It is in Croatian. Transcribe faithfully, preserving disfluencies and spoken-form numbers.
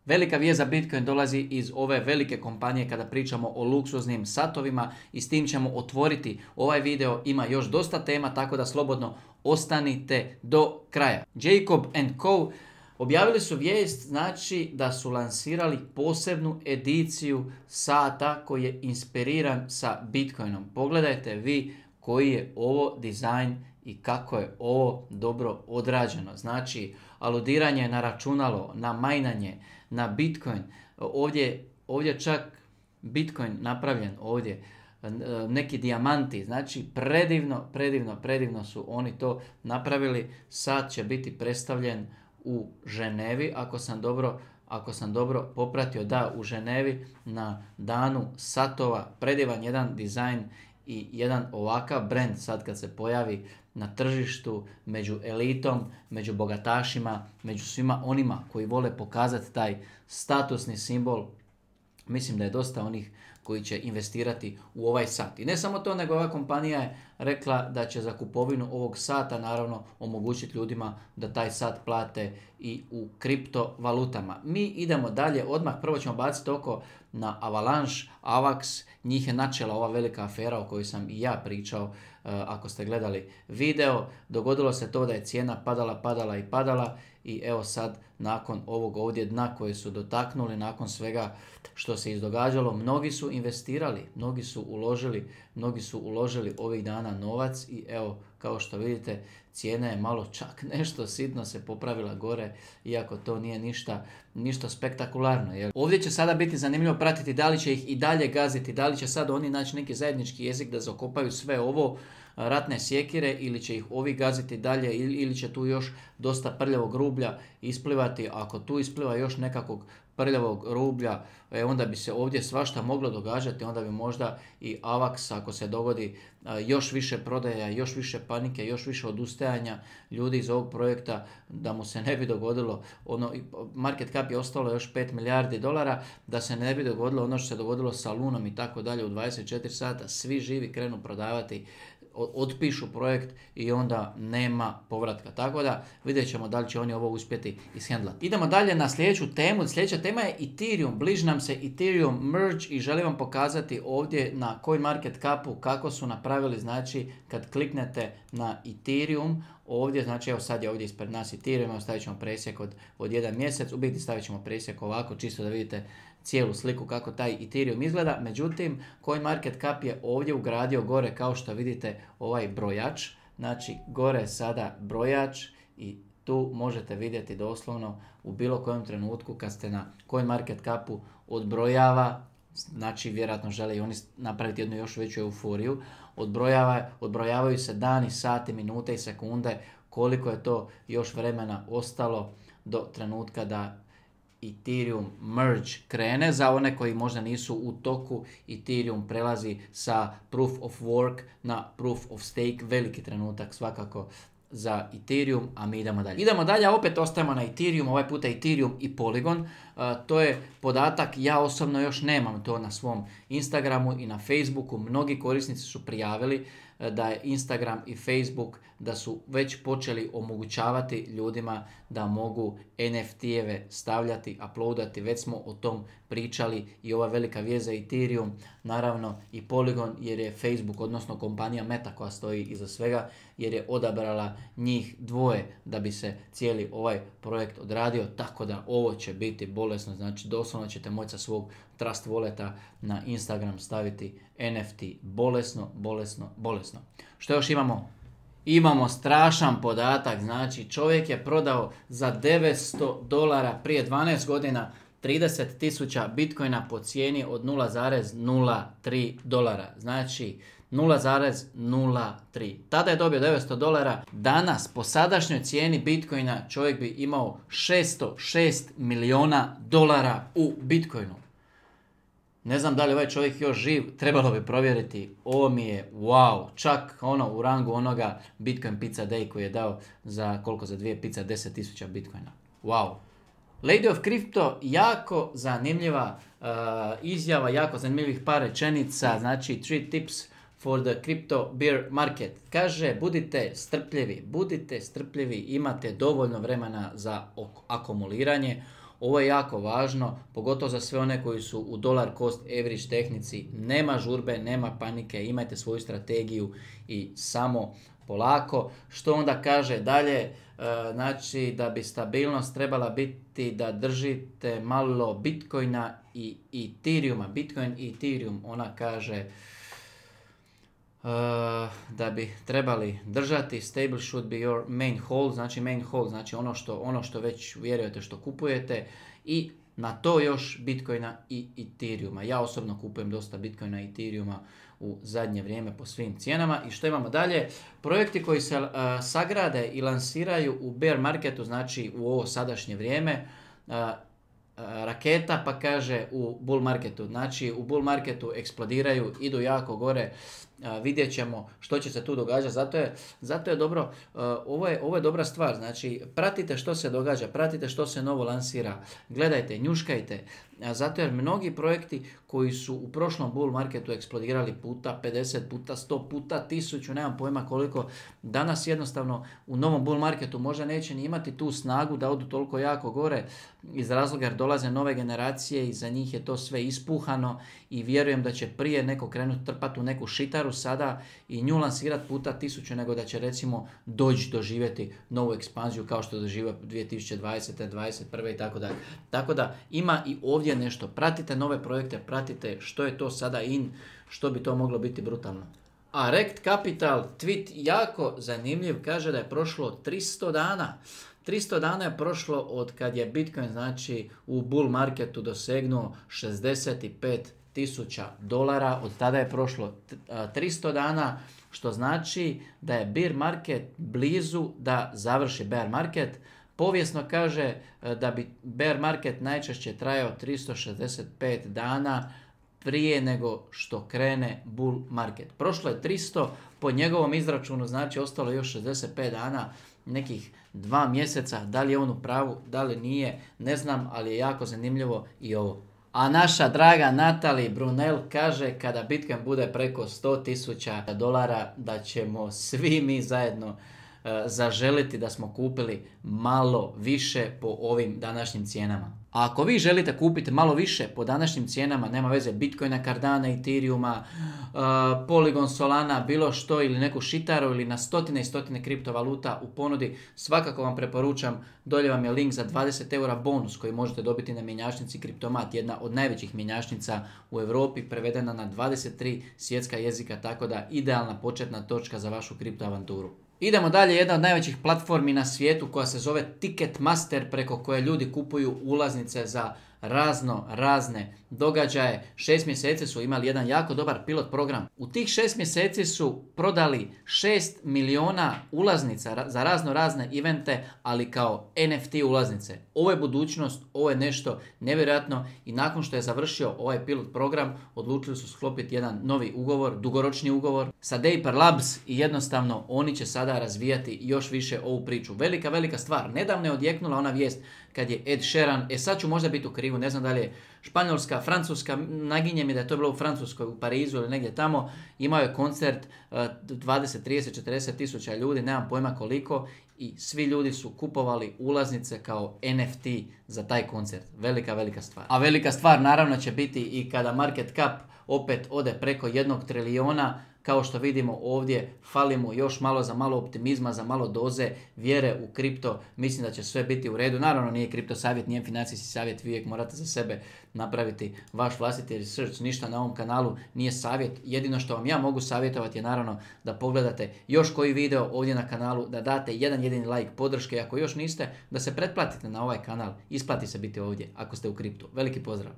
Velika vijest za Bitcoin dolazi iz ove velike kompanije kada pričamo o luksuznim satovima i s tim ćemo otvoriti ovaj video. Ima još dosta tema, tako da slobodno ostanite do kraja. Jacob and Co. objavili su vijest, znači da su lansirali posebnu ediciju sata koji je inspiriran sa Bitcoinom. Pogledajte vi koji je ovo dizajn i kako je ovo dobro odrađeno. Znači, aludiranje na računalo, na majnanje, na Bitcoin. Ovdje, ovdje čak Bitcoin napravljen ovdje, neki dijamanti. Znači, predivno, predivno, predivno su oni to napravili. Sat će biti predstavljen u Ženevi, ako sam dobro Ako sam dobro popratio, da, u Ženevi na danu satova. Predivan jedan dizajn i jedan ovakav brand sad kad se pojavi na tržištu među elitom, među bogatašima, među svima onima koji vole pokazati taj statusni simbol. Mislim da je dosta onih koji će investirati u ovaj sat. I ne samo to, nego ova kompanija je rekla da će za kupovinu ovog sata naravno omogućiti ljudima da taj sat plate i u kriptovalutama. Mi idemo dalje, odmah prvo ćemo baciti oko na Avalanche, Avax, njih je načela ova velika afera o kojoj sam i ja pričao. Ako ste gledali video, dogodilo se to da je cijena padala, padala i padala i evo sad nakon ovog ovdje dna koje su dotaknuli, nakon svega što se izdogađalo, mnogi su investirali, mnogi su uložili, mnogi su uložili ovih dana novac i evo kao što vidite cijena je malo čak nešto sitno se popravila gore, iako to nije ništa, ništa spektakularno. Jel? Ovdje će sada biti zanimljivo pratiti da li će ih i dalje gaziti, da li će sad oni naći neki zajednički jezik da zakopaju sve ovo ratne sjekire ili će ih ovi gaziti dalje ili, ili će tu još dosta prljavog rublja isplivati. Ako tu ispliva još nekakvog prljavog rublja, e, onda bi se ovdje svašta moglo događati, onda bi možda i Avax, ako se dogodi a, još više prodaja, još više panike, još više odustajanja ljudi iz ovog projekta, da mu se ne bi dogodilo, ono, market cap je ostalo još pet milijardi dolara, da se ne bi dogodilo ono što se dogodilo sa Lunom i tako dalje u dvadeset četiri sata, svi živi krenu prodavati, otpišu projekt i onda nema povratka. Tako da vidjet ćemo da li će oni ovo uspjeti ishendlati. Idemo dalje na sljedeću temu. Sljedeća tema je Ethereum. Bliži nam se Ethereum merge i želim vam pokazati ovdje na CoinMarketCapu kako su napravili, znači kad kliknete na Ethereum, ovdje, znači evo sad je ovdje ispred nas Ethereum, evo stavit ćemo presjek od, od jedan mjesec, u biti stavit ćemo presjek ovako, čisto da vidite cijelu sliku kako taj Ethereum izgleda. Međutim, CoinMarketCap je ovdje ugradio gore, kao što vidite, ovaj brojač. Znači, gore je sada brojač i tu možete vidjeti doslovno u bilo kojem trenutku kad ste na CoinMarketCapu odbrojava, znači vjerojatno žele i oni napraviti jednu još veću euforiju, odbrojava, odbrojavaju se dani, sati, minute i sekunde, koliko je to još vremena ostalo do trenutka da Ethereum merge krene. Za one koji možda nisu u toku, Ethereum prelazi sa proof of work na proof of stake, veliki trenutak svakako za Ethereum, a mi idemo dalje. Idemo dalje, opet ostajemo na Ethereum, ovaj puta Ethereum i Polygon. Uh, to je podatak, ja osobno još nemam to na svom Instagramu i na Facebooku. Mnogi korisnici su prijavili uh, da je Instagram i Facebook da su već počeli omogućavati ljudima da mogu N F T-eve stavljati, uploadati, već smo o tom pričali i ova velika vijest za Ethereum, naravno i Polygon, jer je Facebook, odnosno kompanija Meta koja stoji iza svega, jer je odabrala njih dvoje da bi se cijeli ovaj projekt odradio, tako da ovo će biti bolesno, znači doslovno ćete moći sa svog Trust Walleta na Instagram staviti N F T, bolesno, bolesno, bolesno. Što još imamo? Imamo strašan podatak, znači čovjek je prodao za devetsto dolara prije dvanaest godina trideset tisuća bitcoina po cijeni od nula zarez nula tri dolara, znači nula zarez nula tri. Tada je dobio devetsto dolara, danas po sadašnjoj cijeni bitcoina čovjek bi imao šesto šest milijuna dolara u bitcoinu. Ne znam da li ovaj čovjek još živ, trebalo bi provjeriti. Ovo mi je wow, čak ono u rangu onoga Bitcoin Pizza Day koji je dao za koliko, za dvije pizza, deset tisuća bitcoina. Wow. Lady of Crypto, jako zanimljiva uh, izjava, jako zanimljivih par rečenica, znači three tips for the crypto bear market. Kaže, budite strpljivi, budite strpljivi, imate dovoljno vremena za akumuliranje. Ovo je jako važno, pogotovo za sve one koji su u dollar cost average tehnici. Nema žurbe, nema panike, imajte svoju strategiju i samo polako. Što onda kaže dalje? E, znači da bi stabilnost trebala biti da držite malo Bitcoina i Ethereuma. Bitcoin i Ethereum, ona kaže Uh, da bi trebali držati. Stable should be your main hold, znači main hold, znači ono što, ono što već vjerujete, što kupujete, i na to još Bitcoina i Ethereuma. Ja osobno kupujem dosta Bitcoina i Ethereuma u zadnje vrijeme po svim cijenama. I što imamo dalje? Projekti koji se uh, sagrade i lansiraju u bear marketu, znači u ovo sadašnje vrijeme, uh, raketa, pa kaže u bull marketu. Znači u bull marketu eksplodiraju, idu jako gore, vidjet ćemo što će se tu događati. Zato je, zato je dobro, ovo je, ovo je dobra stvar. Znači pratite što se događa, pratite što se novo lansira, gledajte, njuškajte. Zato jer mnogi projekti koji su u prošlom bull marketu eksplodirali puta pedeset, puta sto, puta tisuću, nemam pojma koliko, danas jednostavno u novom bull marketu možda neće ni imati tu snagu da odu toliko jako gore, iz razloga jer dolaze nove generacije i za njih je to sve ispuhano i vjerujem da će prije neko krenuti trpati u neku šitaru sada i nju lansirati puta tisuću, nego da će recimo doći doživjeti novu ekspanziju kao što doživio dvije tisuće dvadesete, dvadeset prve i tako dalje. Tako da ima i ovdje nešto. Pratite nove projekte, pratite što je to sada in, što bi to moglo biti brutalno. A Rekt Capital tweet jako zanimljiv, kaže da je prošlo tristo dana. tristo dana je prošlo od kad je Bitcoin, znači, u bull marketu dosegnuo šezdeset pet tisuća dolara. Od tada je prošlo tristo dana, što znači da je bear market blizu da završi bear market. Povijesno kaže da bi bear market najčešće trajao tristo šezdeset pet dana prije nego što krene bull market. Prošlo je tristo, po njegovom izračunu, znači ostalo još šezdeset pet dana, nekih dva mjeseca. Da li je on u pravu, da li nije, ne znam, ali je jako zanimljivo i ovo. A naša draga Natalie Brunel kaže kada Bitcoin bude preko sto tisuća dolara da ćemo svi mi zajedno zaželiti da smo kupili malo više po ovim današnjim cijenama. A ako vi želite kupiti malo više po današnjim cijenama, nema veze, Bitcoina, Cardana, Ethereuma, uh, Polygon, Solana, bilo što, ili neku šitaru, ili na stotine i stotine kriptovaluta u ponudi, svakako vam preporučam, dolje vam je link za dvadeset eura bonus koji možete dobiti na mjenjačnici Kriptomat, jedna od najvećih mjenjačnica u Europi, prevedena na dvadeset tri svjetska jezika, tako da idealna početna točka za vašu kriptoavanturu. Idemo dalje, jedna od najvećih platformi na svijetu koja se zove Ticketmaster, preko koje ljudi kupuju ulaznice za razno razne događaje. Šest mjeseci su imali jedan jako dobar pilot program. U tih šest mjeseci su prodali šest milijuna ulaznica za razno razne evente, ali kao N F T ulaznice. Ovo je budućnost, ovo je nešto nevjerojatno i nakon što je završio ovaj pilot program, odlučili su sklopiti jedan novi ugovor, dugoročni ugovor sa Dapper Labs i jednostavno oni će sada razvijati još više ovu priču. Velika, velika stvar. Nedavno je odjeknula ona vijest kad je Ed Sheeran, e sad ću možda biti u krivu, ne znam da li je Španjolska, Francuska, naginje mi da je to bilo u Francuskoj, u Parizu ili negdje tamo, imao je koncert dvadeset, trideset, četrdeset tisuća ljudi, nemam pojma koliko, i svi ljudi su kupovali ulaznice kao N F T za taj koncert. Velika, velika stvar. A velika stvar naravno će biti i kada market cap opet ode preko jednog trilijona. Kao što vidimo ovdje, fali mu još malo za malo optimizma, za malo doze vjere u kripto. Mislim da će sve biti u redu. Naravno nije kripto savjet, nije financijski savjet, vi uvijek morate za sebe napraviti vaš vlastiti research. Ništa na ovom kanalu nije savjet. Jedino što vam ja mogu savjetovati je naravno da pogledate još koji video ovdje na kanalu, da date jedan jedini like podrške. Ako još niste, da se pretplatite na ovaj kanal. Isplati se biti ovdje ako ste u kriptu. Veliki pozdrav!